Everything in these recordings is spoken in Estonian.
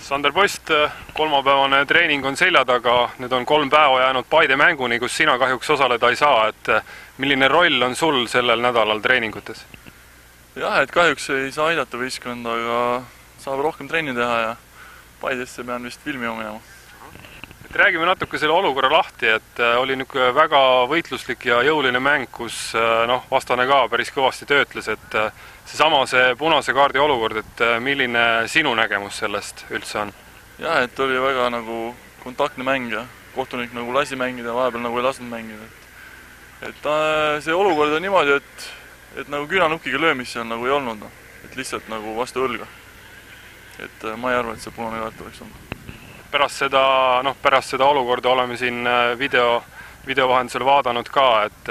Sander Post, kolmapäevane treening on selja taga, nüüd on 3 päeva jäänud Paide mänguni, kus sina kahjuks osaleda ei saa, et milline roll on sul sellel nädalal treeningutes? Jah, et kahjuks ei saa aidata võistkonda, aga saab rohkem trenni teha ja Paidesse pean vist filmima minema. Räägime natuke selle olukorra lahti, et oli niisugune väga võitluslik ja jõuline mäng, kus vastane ka päris kõvasti töötles, et see punase kaardi olukord, et milline sinu nägemus sellest üldse on? Jah, et oli väga kontaktne mäng ja kohtunik lasi mängida, vahepeal ei lasknud mängida. Et see olukord on niimoodi, et küünanukkiga löömist seal ei olnud, et lihtsalt vastu õlga. Et ma ei arva, et see punane kaart oleks olnud. Pärast seda olukorda oleme siin video vahendusel vaadanud ka, et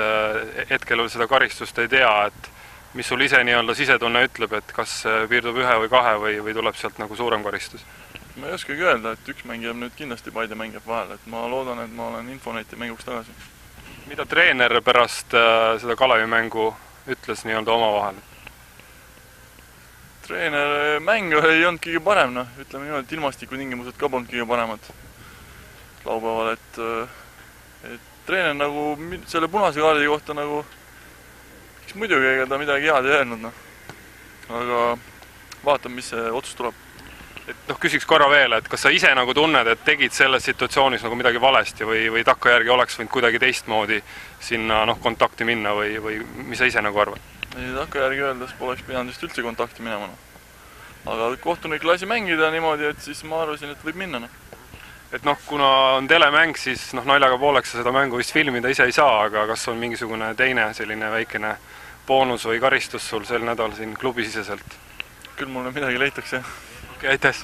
hetkel seda karistust ei tea, et mis sul ise sisetunne ütleb, et kas piirdub 1 või 2 või tuleb sealt suurem karistus? Ma ei oskagi öelda, et üks mäng jääb nüüd kindlasti Paide mäng jääb vahele, et ma loodan, et ma olen Infoneti mänguks tagasi. Mida treener pärast seda Kalevi mängu ütles omavahel? Treener mäng ei olnud kõige parem, ütleme niimoodi, et ilmastikutingimused ka polnud kõige paremad laupäeval, et treener selle punase kaardi kohta kes muidugi ega ta midagi head ei öelnud, aga vaatame, mis see otsus tuleb. Et küsiks korra veel, et kas sa ise tunned, et tegid selles situatsioonis midagi valesti või takkajärgi oleks võinud kuidagi teistmoodi sinna kontakti minna või mis sa ise arvad? Ei, takkajärgi öeldes poleks pidanud just üldse kontakti minema. Aga kohtunik lasi mängida niimoodi, et siis ma arvasin, et võib minna. Et kuna on telemäng, siis naljaga pooleks sa seda mängu vist filmida ise ei saa, aga kas on mingisugune teine selline väikene boonus või karistus sul sel nädal siin klubisiseselt? Küll mulle midagi leitakse. Okei, aitäh!